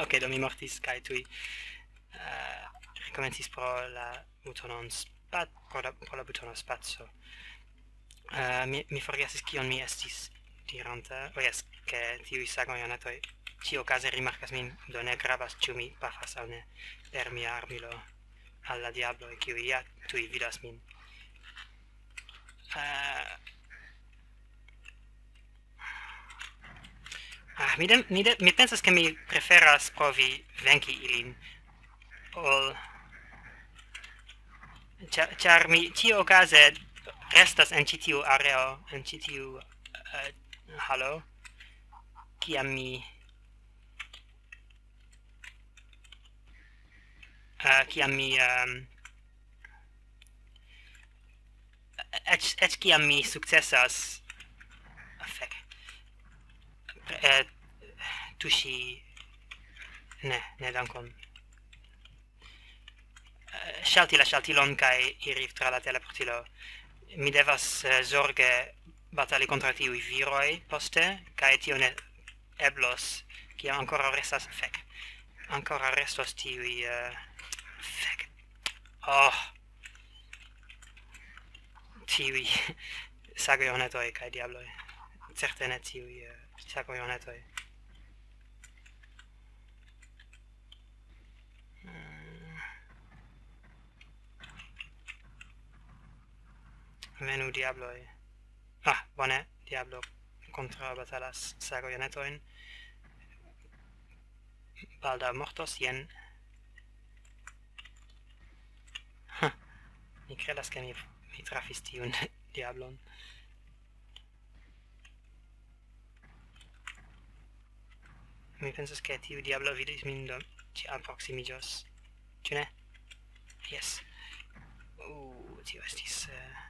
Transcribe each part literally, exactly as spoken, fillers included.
Ok, do mi mortis kaj tuj, eh, rekomencis pro la butonon spa-, pro la, pro la butono spaco. Eh, mi, mi forgesis kion mi estis diranta. Oh, jes, ke tiuj sagojonetoj ĉiuokaze rimarkas min, do ne gravas, ĉu mi pafas aŭ ne per mia armilo al la diabloj, kiuj ja tuj vidas min. Eh, ah, mi dem-, mi de-, mi pensas, ke mi preferas provi venki ilin ol, ĉa-, ĉar mi ĉiuokaze restas en ĉi tiu areo, en ĉi tiu, eh, halo, kiam mi, eh, kiam mi, ehm, eĉ, eĉ kiam mi sukcesas, ah, fek, pre-, eh, tuŝi, ne, ne, dankon. Eh, ŝalti la ŝaltilon kaj iri tra la teleportilo. Mi devas, eh, zorge batali kontraŭ tiuj viroj poste, kaj tio ne eblos, kiam ankoraŭ restas, fek. Ankoraŭ restos tiuj, eh, fek. Oh. Tiuj sagojonetoj kaj diabloj. Certe ne tiuj, eh, sagojonetoj. Mm. Venu, diabloj. Ah, bone, diablo kontraŭbatalas sagojonetojn. Baldaŭ mortos, jen. Ha, mi kredas, ke mi, mi trafis tiun diablon. Mi pensas, ke tiu diablo vidis min, do ĝi alproksimiĝos. Ĉu ne? Jes. Uh, tio estis, eh,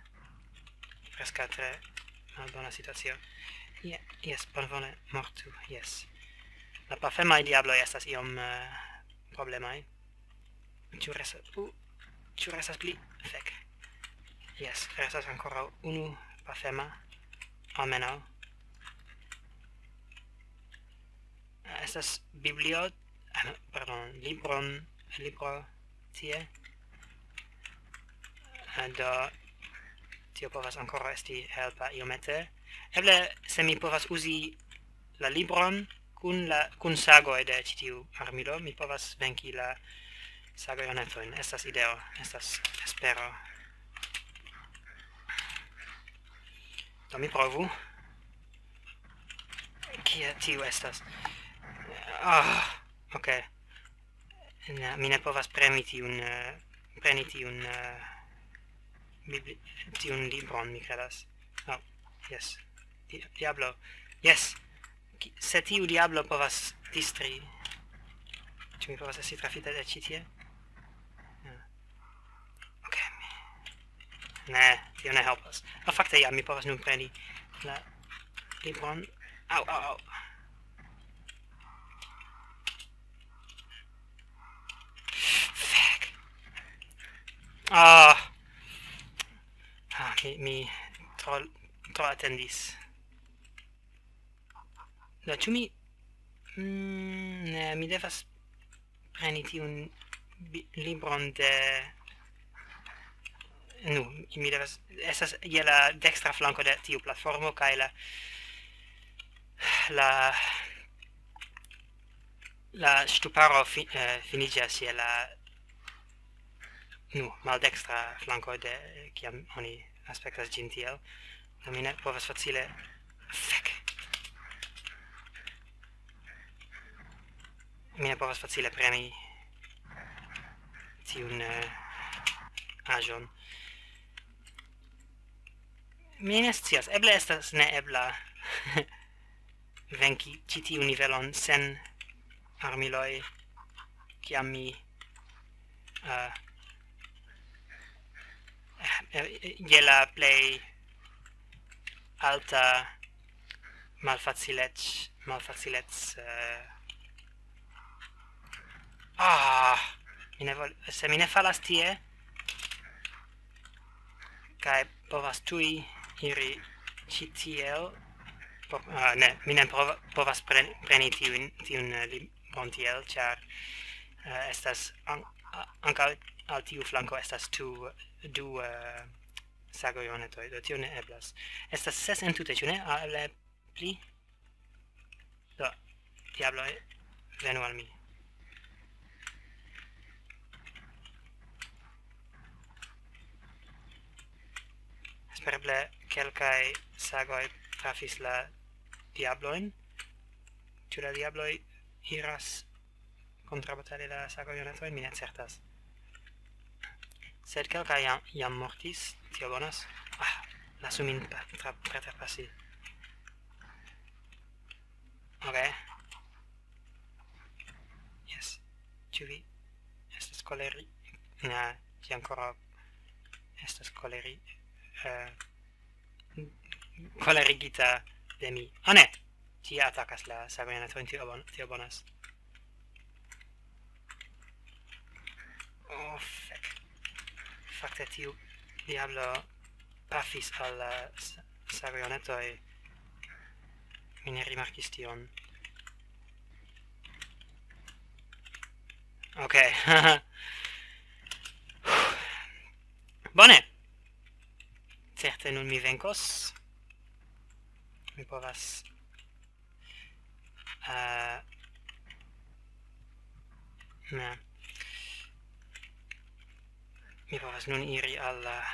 preskaŭ tre malbona situacio. Je-, jes, bonvole, mortu, jes. La pafemaj diabloj estas iom, eh, problemaj. Ĉu restas, uh, ĉu restas pli? Fek. Jes, restas ankoraŭ unu pafema, almenaŭ. Estas biblio-, ah, no, pardon, libron, libro tie. Eh, do, tio povas ankoraŭ esti helpa iomete. Eble, se mi povas uzi la libron kun la, kun sagoj de ĉi tiu armilo, mi povas venki la sagojonetojn. Estas ideo, estas espero. Do mi provu. Kie tiu estas? Ah, ok. Ne, mi ne povas premi tiun, eh, preni tiun, eh, bibli-, tiun libron, mi kredas. Oh, jes. Di-, diablo. Jes. Ki-, se tiu diablo povas distri. Ĉu mi povas esti trafita de ĉi tie? Ja. Ok, mi... Ne, tio ne helpas. Ah, fakte, ja, mi povas nun preni la libron. Au, au, au. Fek. Ah. Ah, mi, mi tro, tro atendis. Do, ĉu mi... Mm, ne, mi devas preni tiun bi-, libron de... Nu, mi devas... Estas je la dekstra flanko de tiu platformo, kaj la, la, la ŝtuparo fi-, eh, finiĝas je la, nu, maldekstra flanko de, kiam oni aspektas ĝin tiel. Do mi ne povas facile... Fek. Mi ne povas facile preni tiun, eh, aĵon. Mi ne scias, eble estas neebla venki ĉi tiun nivelon sen armiloj, kiam mi, eh, eh, je la plej alta malfacilec-, malfacilec-, eh, ah, mi ne vol-, se mi ne falas tie, kaj povas tuj iri ĉi tiel, po-, ah, ne, mi ne prova-, povas pre-, preni tiun, tiun, eh, li-, prontiel, ĉar eh, estas an- a- ankaŭ al tiu flanko estas tu du eh, sagojonetoj, do tio ne eblas. Estas ses entute, ĉu ne? Al pli? Do, diabloj, venu al mi. Espereble kelkaj sagoj trafis la diablojn. Ĉu la diabloj iras kontrabatali la sagojonetojn? Mi ne certas. Sed kelkaj jam, jam mortis, tio bonas. Ah, lasu min pa- tra- preterpasi. Ok. Yes. Ĉu vi estas koleri? Ne, ĝi ankoraŭ estas koleri. Uh, kolerigita de mi. Ah, ne! Ĝi atakas la sagojonetojn, tio, bon, tio bonas. Oh, fek. Fakte tiu diablo pafis al la s- sagojonetoj. Mi ne rimarkis tion. Ok. Bone. Certe nun mi venkos. Mi povas... Uh, ne. Mi povas nun iri al... Uh,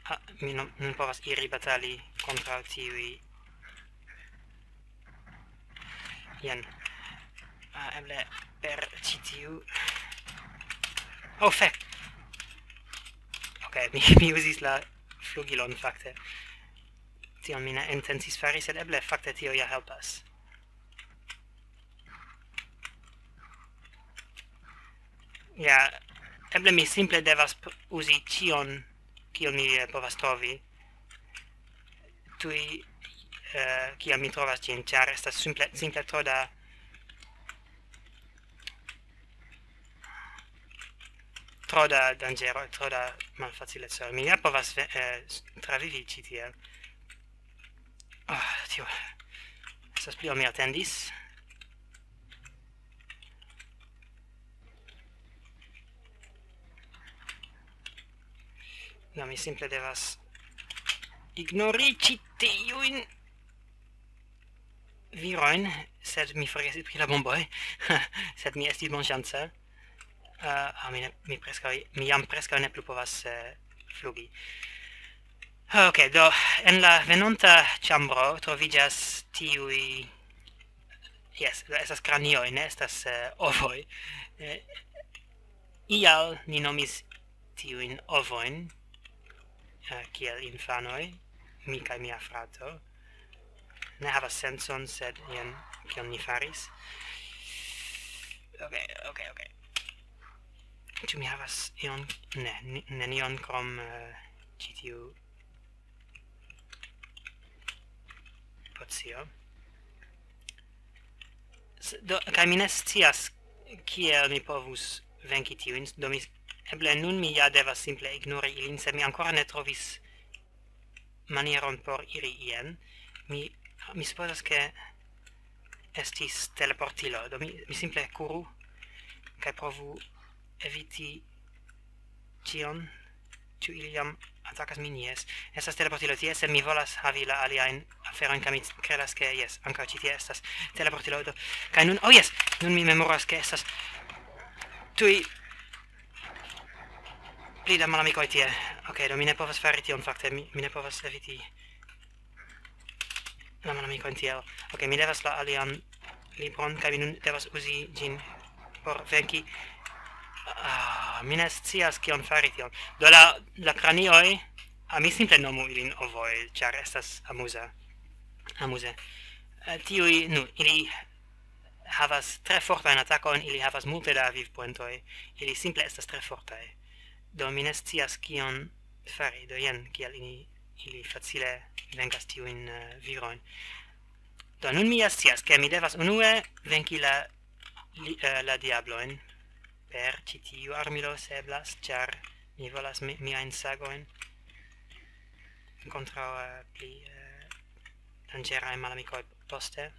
ah, mi non, non povas iri batali kontraŭ tiuj. Jen. Ah, eble per ĉi tiu. Oh, fek! Ok, mi, mi uzis la flugilon fakte. Tion mi ne intencis fari, sed eble fakte tio ja helpas. Ja, eble mi simple devas p- uzi ĉion, kion mi eh, povas trovi. Tuj, eh, kiam mi trovas ĝin, ĉar estas simple, simple tro da... Tro da danĝero, tro da malfacileco. Mi ja povas ve- eh, s- travivi ĉi tiel. Ah, tio estas pli ol mi atendis. No, mi simple devas ignori ĉi tiujn virojn, sed mi forgesis pri la bomboj, sed mi estis bonŝanca. Uh, ah, mi, ne, mi, preskaŭ, mi jam preskaŭ ne plu povas uh, flugi. Ok, do, en la venonta ĉambro troviĝas tiuj... Yes, estas kranioj, ne estas uh, ovoj. Uh, ial ni nomis tiujn ovojn, uh, kiel infanoj, mi kaj mia frato. Ne havas sencon, sed jen kion mi faris. Ok, ok, ok. Ĉu mi havas ion? Ne, ni- nenion krom uh, ĉi tiu pocio. S- Do, kaj mi ne scias kiel mi povus venki tiujn, do mi... Eble nun mi ja devas simple ignori ilin, sed mi ankoraŭ ne trovis manieron por iri ien. Mi, mi supozas, ke estis teleportilo, do mi, mi simple kuru kaj provu eviti ĉion. Ĉu ili jam atakas min? Jes. Estas teleportilo tie, sed mi volas havi la aliajn aferojn, kaj mi kredas, ke jes, ankaŭ ĉi tie estas teleportilo. Do, kaj nun, oh jes, nun mi memoras, ke estas tuj pli da malamikoj tie. Ok, do mi ne povas fari tion fakte, mi, mi ne povas eviti la malamikojn tiel. Ok, mi devas la alian libron, kaj mi nun devas uzi ĝin por venki. Ah, mi ne scias kion fari tion. Do la, la kranioj, ah, mi simple nomu ilin ovoj, ĉar estas amuza. Amuze. Eh, tiuj, nu, ili havas tre fortajn atakojn, ili havas multe da vivpoentoj, ili simple estas tre fortaj. Do mi ne scias kion fari, do jen kiel ili, ili facile venkas tiujn uh, virojn. Do nun mi ja scias, ke mi devas unue venki la, li, uh, la diablojn per ĉi tiu armilo, se eblas, ĉar mi volas mi, miajn sagojn kontraŭ uh, pli uh, danĝeraj malamikoj poste.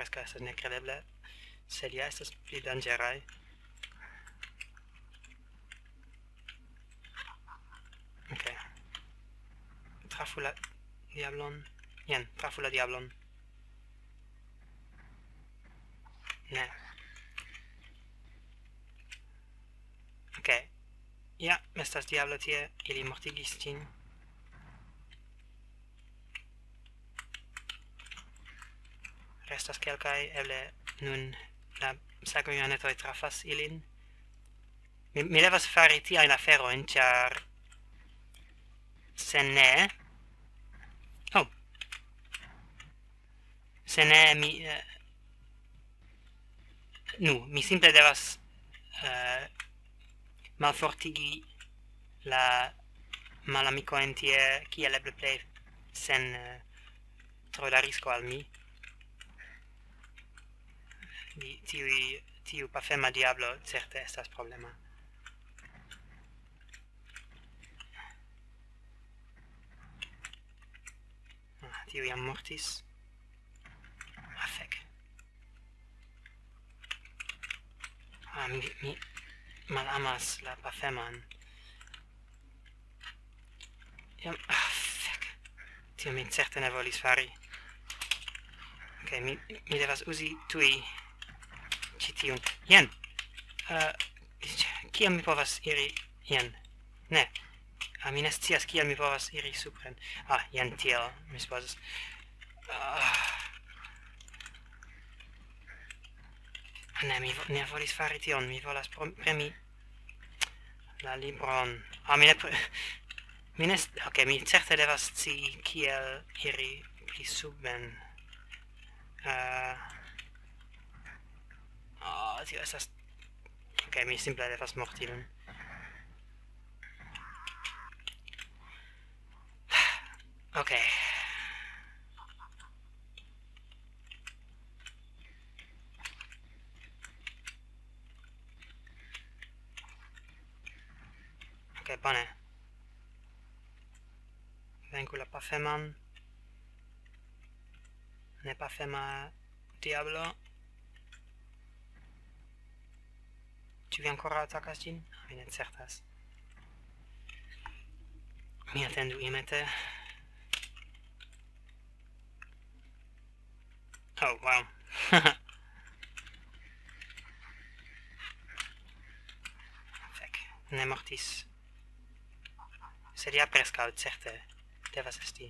preskaŭ estas nekredeble, sed ja estas pli danĝeraj. Ok. Trafu la diablon. Jen, trafu la diablon. Ne. Ok. Ja, estas diablo tie, ili mortigis ĝin. Restas kelkaj, eble nun la sagojonetoj trafas ilin. Mi, mi devas fari tiajn aferojn, ĉar se ne... Oh. Se ne, mi... eh, Nu, mi simple devas, eh, malfortigi la malamikojn tie, kiel eble plej sen, eh, tro da risko al mi. Di-, tiuj, tiu pafema diablo certe estas problema. Ah, tiu jam mortis. Ah, fek. Ah, mi, mi malamas la pafeman. Jam, ah, fek. Tio mi certe ne volis fari. Ok, mi, mi devas uzi tuj ĉi tiun. Jen! Eh, kiam mi povas iri? Jen. Ne. Ah, mi ne scias, kiel mi povas iri supren. Ah, jen tiel, mi supozas. Ah. Ne, mi vo-, ne volis fari tion, mi volas pro-, premi la libron. Ah, mi ne pre-, mi ne st-, ok, mi certe devas scii kiel iri pli suben. Eh, ah, tio estas... Ok, mi simple devas morti nun. Ok. Ok, bone. Venku la pafeman. Ne pafema diablo. Ĉu vi ankoraŭ atakas ĝin? Mi ne certas. Mi atendu iomete. Oh, wow. Fek, ne mortis. Sed ja preskaŭ certe devas esti.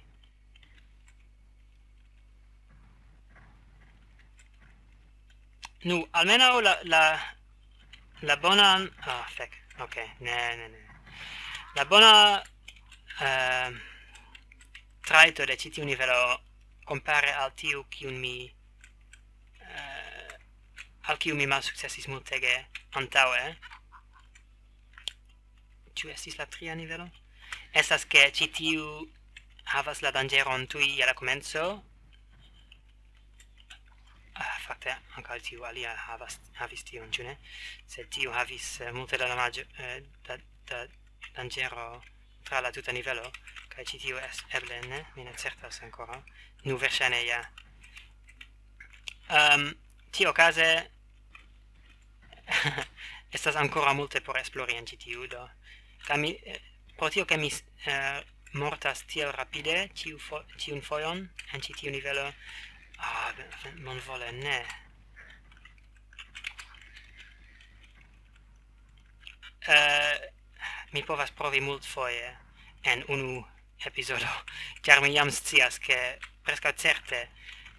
Nu, almenaŭ la, la, la bonan... Ah, fek. Ok, ne, ne, ne. La bona, ehm, trajto de ĉi tiu nivelo kompare al tiu, kiun mi, eh, al kiu mi malsukcesis multege antaŭe. Ĉu estis la tria nivelo? Estas ke ĉi tiu havas la danĝeron tuj je la komenco. Ah, fakte, ankaŭ tiu alia havas, havis tion, ĉu ne? Sed tiu havis, eh, multe da damaĝo, eh, da, da danĝero tra la tuta nivelo, kaj ĉi tiu es-, eble ne, mi ne certas ankoraŭ. Nu, verŝajne ja. Ehm, tiuokaze estas ankoraŭ multe por esplori en ĉi tiu, do. Kaj mi, eh, pro tio, ke mi, eh, mortas tiel rapide, ĉiu fo-, ĉiun fojon en ĉi tiu nivelo, ah, ben-, ben-, bonvole, ne. Eh, mi povas provi multfoje en unu epizodo, ĉar mi jam scias, ke preskaŭ certe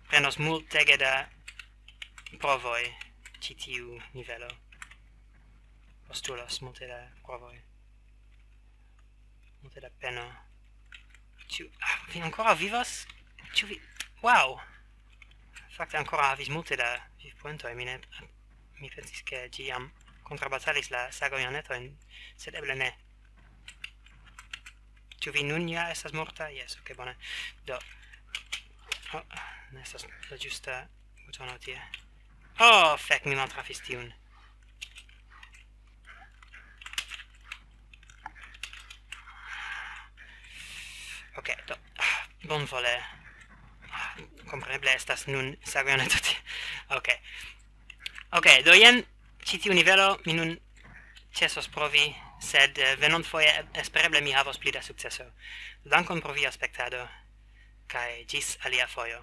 prenos multege da provoj ĉi tiu nivelo. Postulos multe da provoj. Multe da peno. Ĉu, ah, vi ankoraŭ vivas? Ĉu vi... Wow! Fakte ankoraŭ havis multe da vivpoentoj. Mi ne, mi pensis, ke ĝi jam kontrabatalis la sagojonetojn, sed eble ne. Ĉu vi nun ja estas morta? Jes, ok, bone. Do. Oh, ne estas la ĝusta butono tie. Oh, fek, mi maltrafis tiun. Ok, do. Bonvole. Kompreneble estas nun Sagoyone tute. Ok. Ok, do jen ĉi tiu nivelo mi nun ĉesos provi, sed eh, venonfoje eb- espereble mi havos pli da sukceso. Dankon pro via spektado, kaj ĝis alia fojo.